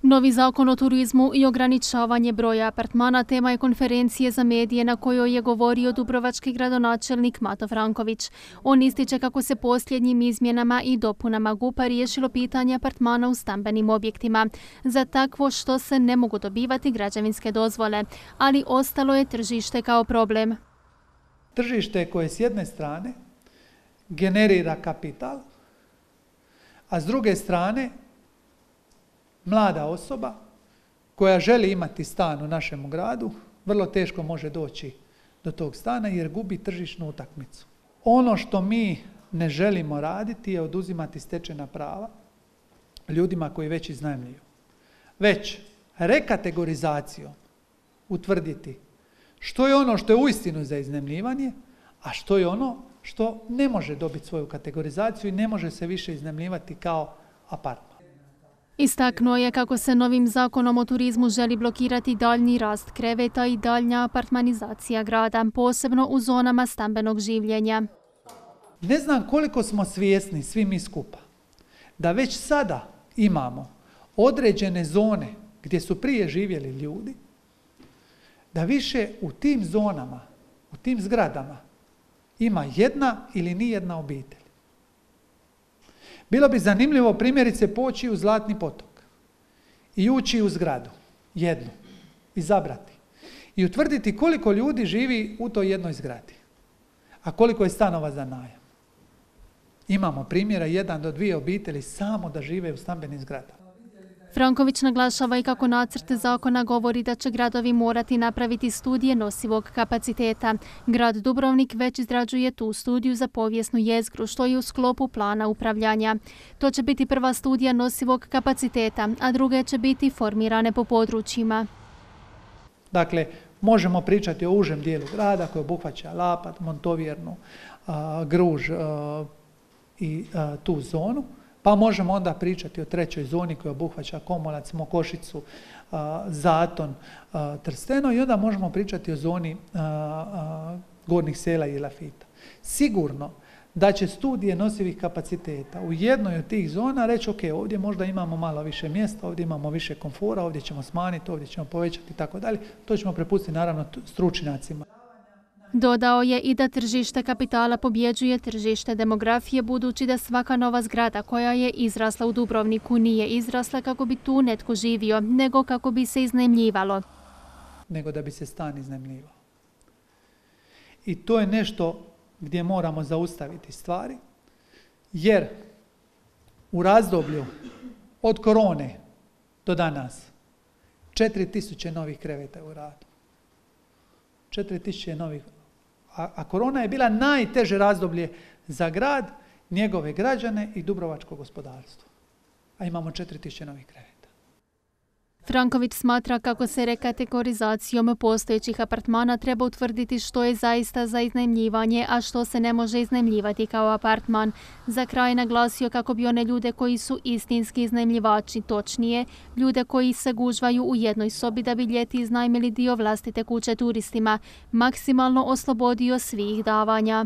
Novi zakon o turizmu i ograničavanje broja apartmana tema je konferencije za medije na kojoj je govorio dubrovački gradonačelnik Mato Franković. On ističe kako se posljednjim izmjenama i dopunama GUP-a riješilo pitanje apartmana u stambenim objektima. Za takvo što se ne mogu dobivati građevinske dozvole, ali ostalo je tržište kao problem. Tržište koje s jedne strane generira kapital, a s druge strane mlada osoba koja želi imati stan u našem gradu vrlo teško može doći do tog stana jer gubi tržišnu utakmicu. Ono što mi ne želimo raditi je oduzimati stečena prava ljudima koji već iznajmljuju. Već rekategorizacijom utvrditi što je ono što je uistinu za iznajmljivanje, a što je ono što ne može dobiti svoju kategorizaciju i ne može se više iznajmljivati kao apartman. Istaknuo je kako se novim zakonom o turizmu želi blokirati daljnji rast kreveta i daljnja apartmanizacija grada, posebno u zonama stambenog življenja. Ne znam koliko smo svjesni, svi mi skupa, da već sada imamo određene zone gdje su prije živjeli ljudi, da više u tim zonama, u tim zgradama ima jedna ili nijedna obitelj. Bilo bi zanimljivo primjerice poći u Zlatni potok i ući u zgradu, jednu, izabrati i utvrditi koliko ljudi živi u toj jednoj zgradi, a koliko je stanova za najam. Imamo primjera 1 do 2 obitelji samo da žive u stambenim zgradama. Franković naglašava i kako nacrt zakona govori da će gradovi morati napraviti studije nosivog kapaciteta. Grad Dubrovnik već izrađuje tu studiju za povijesnu jezgru, što je u sklopu plana upravljanja. To će biti prva studija nosivog kapaciteta, a druge će biti formirane po područjima. Dakle, možemo pričati o užem dijelu grada koji obuhvaća Lapat, Montovjernu, Gruž i tu zonu. Pa možemo onda pričati o trećoj zoni koja obuhvaća Komolac, Mokošicu, Zaton, Trsteno i onda možemo pričati o zoni Gornjih Sela i Elafita. Sigurno da će studije nosivih kapaciteta u jednoj od tih zona reći ok, ovdje možda imamo malo više mjesta, ovdje imamo više komfora, ovdje ćemo smanjiti, ovdje ćemo povećati i tako dalje. To ćemo prepustiti naravno stručnjacima. Dodao je i da tržište kapitala pobjeđuje tržište demografije, budući da svaka nova zgrada koja je izrasla u Dubrovniku nije izrasla kako bi tu netko živio, nego kako bi se iznajmljivalo. Nego da bi se stan iznajmljivao. I to je nešto gdje moramo zaustaviti stvari, jer u razdoblju od korone do danas 4000 novih kreveta u radu. 4000 novih. A korona je bila najteže razdoblje za grad, njegove građane i dubrovačko gospodarstvo. A imamo 4000 novih kreveta. Franković smatra kako se rekategorizacijom postojećih apartmana treba utvrditi što je zaista za iznajmljivanje, a što se ne može iznajmljivati kao apartman. Za kraj naglasio kako bi one ljude koji su istinski iznajmljivači, točnije, ljude koji se gužvaju u jednoj sobi da bi ljeti iznajmili dio vlastite kuće turistima, maksimalno oslobodio svih davanja.